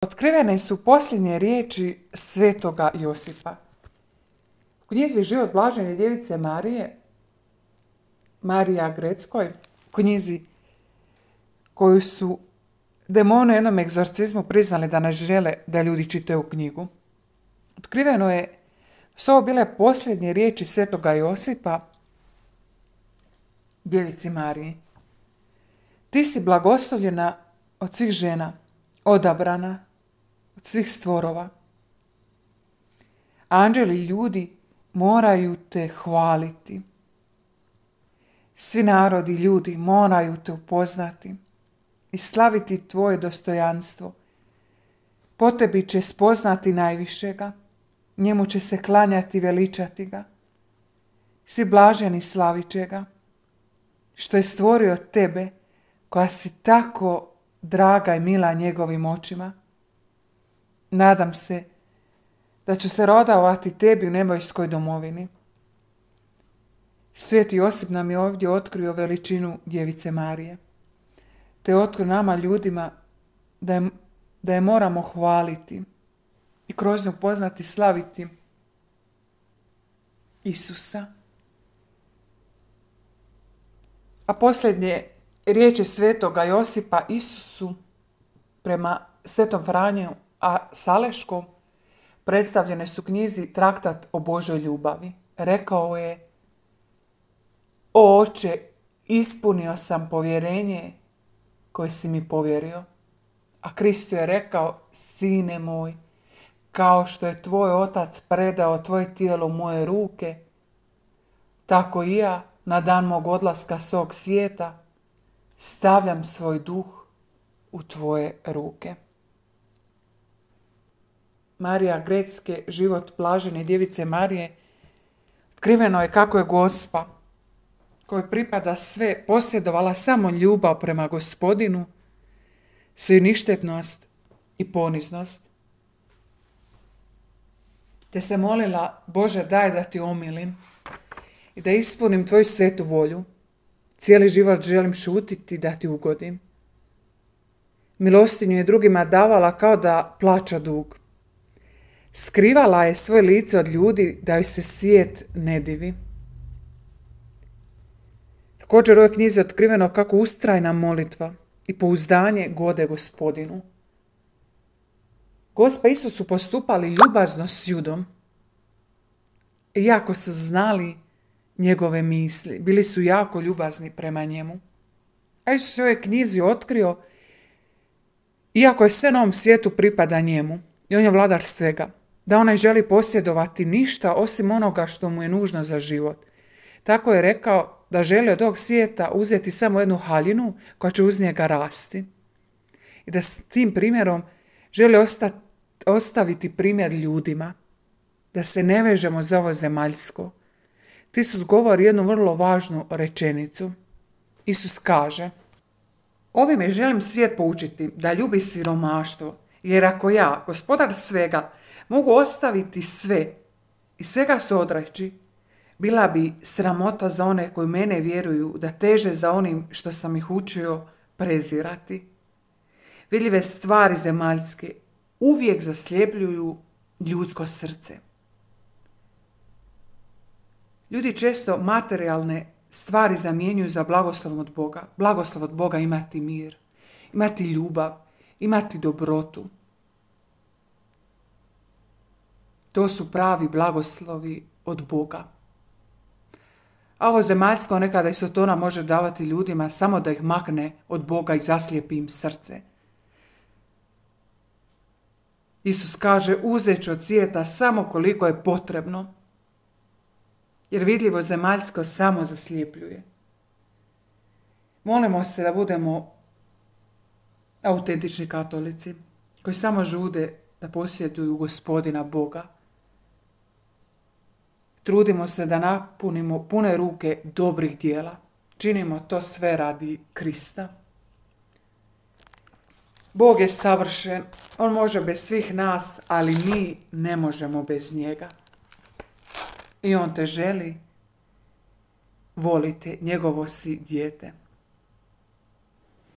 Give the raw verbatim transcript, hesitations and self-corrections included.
Otkrivene su posljednje riječi svetoga Josipa. U knjizi Život blažene djevice Marije, Marija Greckoj, knjizi koju su demoni u jednom egzorcizmu priznali da ne žele da ljudi čitaju knjigu. Otkriveno je su ovo bile posljednje riječi svetoga Josipa djevici Mariji. Ti si blagoslovljena od svih žena, odabrana od svih stvorova. Anđeli i ljudi moraju te hvaliti. Svi narodi i ljudi moraju te upoznati i slaviti tvoje dostojanstvo. Po tebi će spoznati najvišega, njemu će se klanjati i veličati ga. Svi blaženi slavit će ga, što je stvorio tebe, koja si tako draga i mila njegovim očima. Nadam se da ću se rodovati tebi u nebojskoj domovini. Sveti Josip nam je ovdje otkrio veličinu djevice Marije, te otkrio nama ljudima da je, da je moramo hvaliti i kroz nju poznati slaviti Isusa. A posljednje riječi svetoga Josipa Isusu prema svetom Franju a Saleškom predstavljene su knjizi Traktat o Božoj ljubavi. Rekao je: O Oče, ispunio sam povjerenje koje si mi povjerio. A Kristo je rekao: Sine moj, kao što je tvoj otac predao tvoje tijelo u moje ruke, tako i ja na dan mog odlaska s ovog svijeta stavljam svoj duh u tvoje ruke. Marija Grecke, Život blažene djevice Marije, otkriveno je kako je Gospa, kojoj pripada sve, posjedovala samo ljubav prema Gospodinu, svoju ništetnost i poniznost. Te se molila: Bože, daj da ti omilim i da ispunim tvoju svetu volju. Cijeli život želim šutiti da ti ugodim. Milostinju je drugima davala kao da plaća dug. Skrivala je svoje lice od ljudi da joj se svijet ne divi. Također u ovoj knjizi je otkriveno kako ustrajna molitva i pouzdanje gode Gospodinu. Gospa i Isus su postupali ljubazno s Judom, iako su znali njegove misli, bili su jako ljubazni prema njemu. A Isus je u ovoj knjizi otkrio, iako je sve na ovom svijetu pripada njemu, i on je vladar svega, da on ne želi posjedovati ništa osim onoga što mu je nužno za život. Tako je rekao da želi od ovog svijeta uzeti samo jednu haljinu koja će uz njega rasti. I da s tim primjerom želi osta- ostaviti primjer ljudima, da se ne vežemo za ovo zemaljsko. Isus govori jednu vrlo važnu rečenicu. Isus kaže: Ovime želim svijet poučiti da ljubi siromaštvo, jer ako ja, gospodar svega, mogu ostaviti sve i svega se odreći, bila bi sramota za one koji mene vjeruju da teže za onim što sam ih učio prezirati. Vidljive stvari zemaljske uvijek zasljepljuju ljudsko srce. Ljudi često materijalne stvari zamjenjuju za blagoslov od Boga. Blagoslov od Boga imati mir, imati ljubav, imati dobrotu. To su pravi blagoslovi od Boga. A ovo zemaljsko nekada i Sotona može davati ljudima samo da ih makne od Boga i zaslijepi im srce. Isus kaže: uzet ću od svijeta samo koliko je potrebno, jer vidljivo zemaljsko samo zaslijepljuje. Molimo se da budemo autentični katolici, koji samo žude da posjeduju Gospodina Boga. Trudimo se da napunimo pune ruke dobrih djela. Činimo to sve radi Krista. Bog je savršen, on može bez svih nas, ali mi ne možemo bez njega. I on te želi, volite, njegovo si dijete.